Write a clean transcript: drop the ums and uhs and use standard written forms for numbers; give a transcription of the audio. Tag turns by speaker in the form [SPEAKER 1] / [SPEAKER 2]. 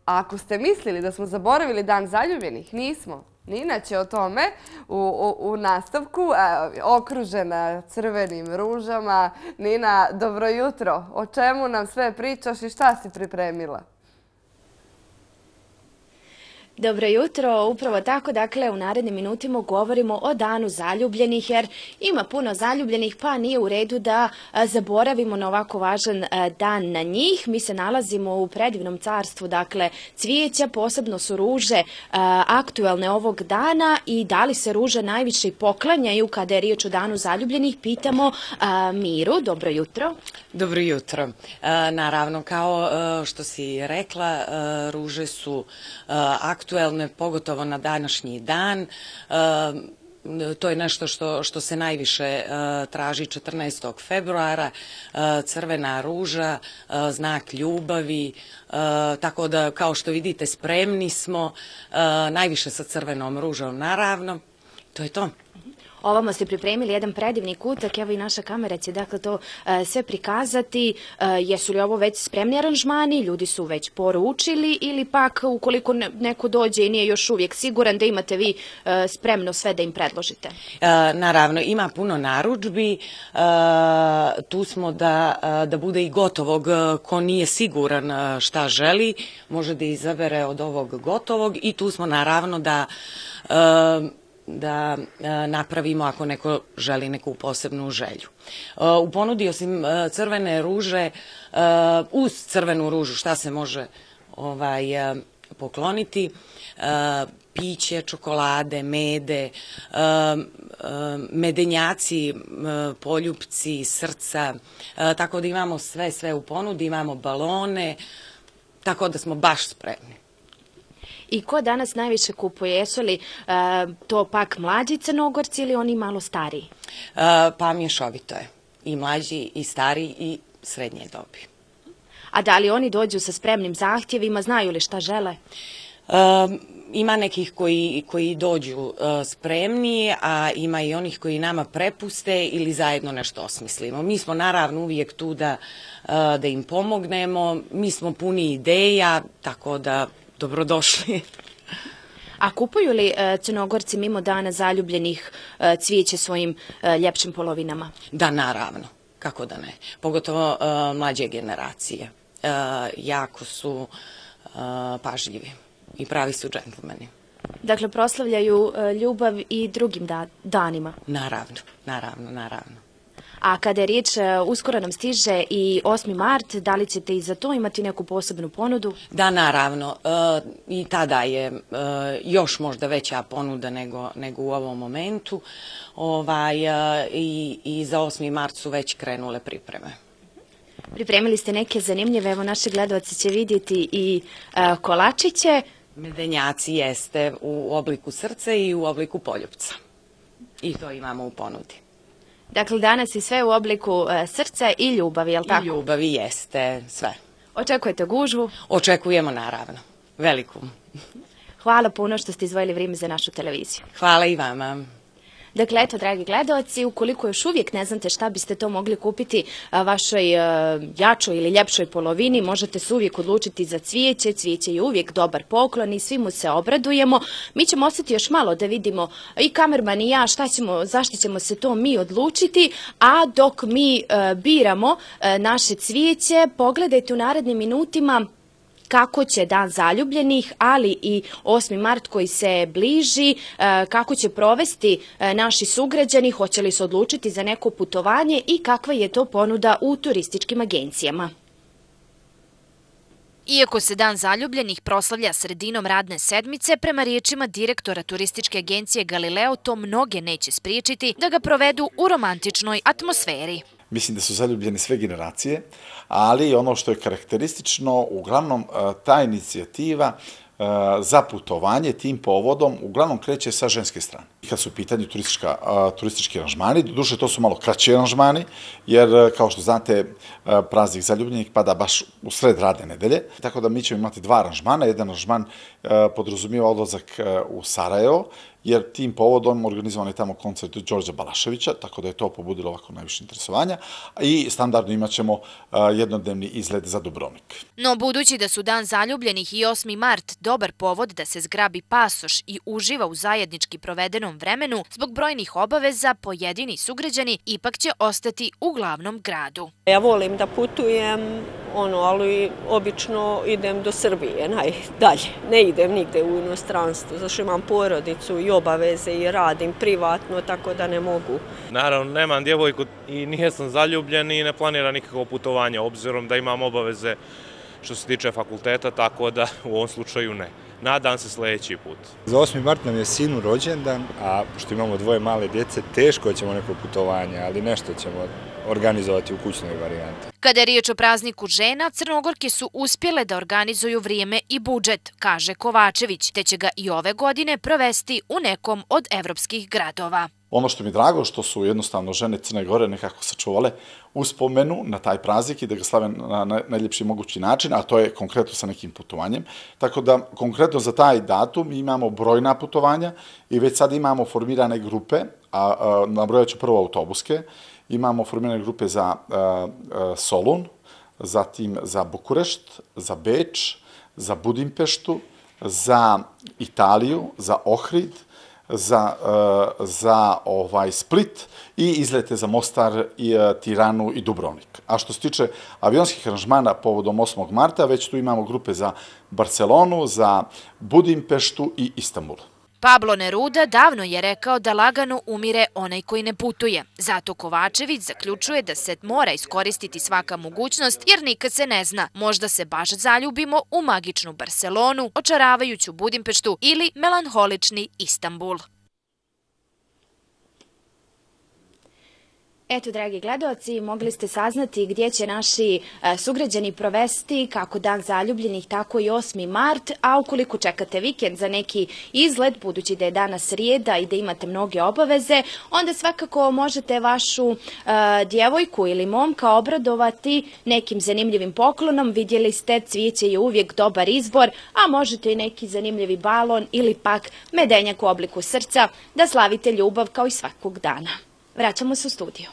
[SPEAKER 1] Ako ste mislili da smo zaboravili Dan zaljubljenih, nismo. Nina će o tome u nastavku, okružena crvenim ružama. Nina, dobro jutro. O čemu nam sve pričaš i šta si pripremila?
[SPEAKER 2] Dobro jutro, upravo tako, dakle u narednim minutima govorimo o Danu zaljubljenih jer ima puno zaljubljenih pa nije u redu da zaboravimo na ovako važan dan na njih. Mi se nalazimo u predivnom carstvu, dakle cvijeća, posebno su ruže aktuelne ovog dana i da li se ruže najviše i poklanjaju kada je riječ o Danu zaljubljenih, pitamo Miru. Dobro jutro.
[SPEAKER 3] Dobro jutro. Naravno, kao što si rekla, ruže su aktuelne, pogotovo na današnji dan. To je nešto što se najviše traži 14. februara. Crvena ruža, znak ljubavi, tako da kao što vidite spremni smo, najviše sa crvenom ružom naravno. To je to.
[SPEAKER 2] Ovamo ste pripremili jedan predivni kutak, evo i naša kamera će dakle to sve prikazati. Jesu li ovo već spremni aranžmani, ljudi su već poručili ili pak ukoliko neko dođe i nije još uvijek siguran da imate vi spremno sve da im predložite?
[SPEAKER 3] Naravno, ima puno narudžbi, tu smo da bude i gotovog, ko nije siguran šta želi, može da izabere od ovog gotovog i tu smo naravno da napravimo ako neko želi neku posebnu želju. U ponudi osim crvene ruže, uz crvenu ružu šta se može pokloniti? Piće, čokolade, mede, medenjaci, poljupci, srca, tako da imamo sve u ponudi, imamo balone, tako da smo baš spremni.
[SPEAKER 2] I ko danas najviše kupuje? Jesu li to pak mlađi Crnogorci ili oni malo stariji?
[SPEAKER 3] Pa mješovito je. I mlađi, i stariji, i srednje dobi.
[SPEAKER 2] A da li oni dođu sa spremnim zahtjevima? Znaju li šta žele?
[SPEAKER 3] Ima nekih koji dođu spremni, a ima i onih koji nama prepuste ili zajedno nešto osmislimo. Mi smo naravno uvijek tu da im pomognemo. Mi smo puni ideja, tako da dobrodošli.
[SPEAKER 2] A kupuju li Crnogorci mimo Dana zaljubljenih cvijeće svojim ljepšim polovinama?
[SPEAKER 3] Da, naravno. Kako da ne? Pogotovo mlađe generacije. Jako su pažljivi i pravi su džentlmeni.
[SPEAKER 2] Dakle, proslavljaju ljubav i drugim danima?
[SPEAKER 3] Naravno.
[SPEAKER 2] A kada je riječ, uskoro nam stiže i 8. mart, da li ćete i za to imati neku posebnu ponudu?
[SPEAKER 3] Da, naravno. I tada je još možda veća ponuda nego u ovom momentu. I za 8. mart su već krenule pripreme.
[SPEAKER 2] Pripremili ste neke zanimljive, evo naši gledalci će vidjeti i kolačiće.
[SPEAKER 3] Medenjaci jeste u obliku srca i u obliku poljupca. I to imamo u ponudi.
[SPEAKER 2] Dakle, danas je sve u obliku srca i ljubavi, je li tako?
[SPEAKER 3] I ljubavi jeste, sve.
[SPEAKER 2] Očekujete gužvu?
[SPEAKER 3] Očekujemo, naravno. Veliku.
[SPEAKER 2] Hvala puno što ste izdvojili vrijeme za našu televiziju.
[SPEAKER 3] Hvala i vama.
[SPEAKER 2] Dakle, eto, dragi gledalci, ukoliko još uvijek ne znate šta biste to mogli kupiti vašoj jačoj ili ljepšoj polovini, možete se uvijek odlučiti za cvijeće. Cvijeće je uvijek dobar poklon i svi mu se obradujemo. Mi ćemo ostati još malo da vidimo i kamerman i ja zašto ćemo se to mi odlučiti, a dok mi biramo naše cvijeće, pogledajte u narednim minutima kako će Dan zaljubljenih, ali i 8. mart koji se bliži, kako će provesti naši sugrađani, hoće li se odlučiti za neko putovanje i kakva je to ponuda u turističkim agencijama.
[SPEAKER 4] Iako se Dan zaljubljenih proslavlja sredinom radne sedmice, prema riječima direktora turističke agencije Galileo, to mnoge neće spriječiti da ga provedu u romantičnoj atmosferi.
[SPEAKER 5] Mislim da su zaljubljene sve generacije, ali ono što je karakteristično, uglavnom ta inicijativa za putovanje tim povodom uglavnom kreće sa ženske strane. Kad su u pitanju turistički aranžmani, doduše to su malo kraći aranžmani, jer kao što znate, praznik zaljubljenih pada baš u sred radne nedelje, tako da mi ćemo imati dva aranžmana. Jedan aranžman podrazumijeva odlazak u Sarajevo, jer tim povodom organizovan je tamo koncert Đorđa Balaševića, tako da je to pobudilo ovako najviše interesovanja, i standardno imat ćemo jednodnevni izlet za Dubrovnik.
[SPEAKER 4] No, budući da su Dan zaljubljenih i 8. mart dobar povod da se zgrabi pasoš i uživa u zajednički provedenom vremenu, zbog brojnih obaveza pojedini sugrađani ipak će ostati u glavnom gradu.
[SPEAKER 6] Ja volim da putujem, ali obično idem do Srbije najdalje. Ne idem nigde u inostranstvo, zašto imam porodicu i obaveze i radim privatno, tako da ne mogu.
[SPEAKER 7] Naravno, nemam djevojku i nisam zaljubljen i ne planiram nikakvo putovanje, obzirom da imam obaveze što se tiče fakulteta, tako da u ovom slučaju ne. Nadam se sljedeći put.
[SPEAKER 8] Za 8. mart nam je sinu rođendan, a pošto imamo dvoje male djece, teško ćemo neko putovanje, ali nešto ćemo organizovati u kućnoj varijanti.
[SPEAKER 4] Kada je riječ o prazniku žena, Crnogorke su uspjele da organizuju vrijeme i budžet, kaže Kovačević, te će ga i ove godine provesti u nekom od evropskih gradova.
[SPEAKER 5] Ono što mi je drago, što su jednostavno žene Crne Gore nekako sačuvale uspomenu na taj praznik i da ga slave na najljepši mogući način, a to je konkretno sa nekim putovanjem. Tako da, konkretno za taj datum imamo brojna putovanja i već sad imamo formirane grupe, a nabrojat ću prvo autobuske. Imamo formirane grupe za Solun, zatim za Bukurešt, za Beč, za Budimpeštu, za Italiju, za Ohrid, za Split i izlete za Mostar, Tiranu i Dubrovnik. A što se tiče avionskih aranžmana povodom 8. marta, već tu imamo grupe za Barcelonu, za Budimpeštu i Istanbul.
[SPEAKER 4] Pablo Neruda davno je rekao da lagano umire onaj koji ne putuje. Zato Kovačević zaključuje da se mora iskoristiti svaka mogućnost, jer nikad se ne zna. Možda se baš zaljubimo u magičnu Barcelonu, očaravajuću Budimpeštu ili melanholični Istanbul.
[SPEAKER 2] Eto, dragi gledaoci, mogli ste saznati gdje će naši sugrađani provesti kako Dan zaljubljenih, tako i 8. mart, a ukoliko čekate vikend za neki izlet, budući da je danas srijeda i da imate mnoge obaveze, onda svakako možete vašu djevojku ili momka obradovati nekim zanimljivim poklonom. Vidjeli ste, cvijeće je uvijek dobar izbor, a možete i neki zanimljivi balon ili pak medenjak u obliku srca da slavite ljubav kao i svakog dana. Vraćamo se u studiju.